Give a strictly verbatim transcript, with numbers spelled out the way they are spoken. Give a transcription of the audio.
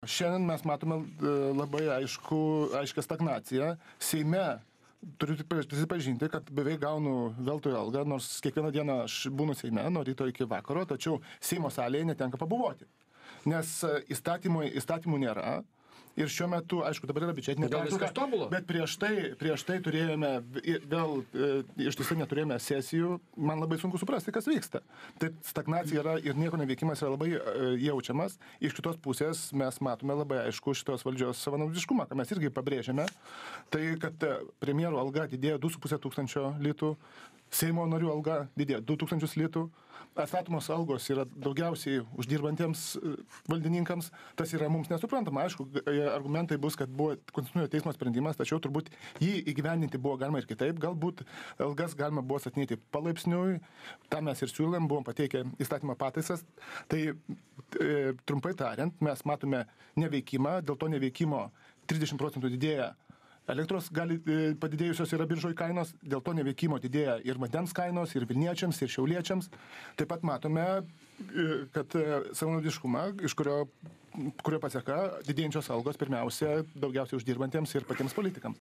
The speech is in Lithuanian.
šiandien mes matome labai aišku, aiškę stagnaciją. Seime turiu tik prisipažinti, kad beveik gaunu veltui algą, nors kiekvieną dieną aš būnu Seime, nuo ryto iki vakaro, tačiau Seimo salėje netenka pabuvoti. Nes įstatymų, įstatymų nėra. Ir šiuo metu, aišku, dabar yra biudžetinė pertvarka, bet prieš tai, prieš tai turėjome, vėl iš tiesų neturėjome sesijų, man labai sunku suprasti, kas vyksta. Tai stagnacija yra ir nieko neveikimas yra labai jaučiamas. Iš kitos pusės mes matome labai aišku šitos valdžios savanaudiškumą, ką mes irgi pabrėžiame. Tai, kad premjero alga didėjo du su puse tūkstančio litų, Seimo narių alga didėjo du tūkstančius litų, atstatomos algos yra daugiausiai uždirbantiems valdininkams, tas yra mums nesuprantama. Aišku, argumentai bus, kad buvo konstitucinio teismo sprendimas, tačiau turbūt jį įgyvendinti buvo galima ir kitaip, galbūt algas galima buvo statinėti palaipsniui, tą mes ir siūlėm, buvom pateikę įstatymą pataisas. Tai e, trumpai tariant, mes matome neveikimą, dėl to neveikimo trisdešimt procentų didėja elektros gali padidėjusios yra biržoj kainos, dėl to neveikimo didėja ir vandens kainos, ir Vilniečiams, ir Šiauliečiams. Taip pat matome, kad savanaudiškumą, iš kurio, kurio paseka didėjančios algos pirmiausia daugiausiai uždirbantiems ir patiems politikams.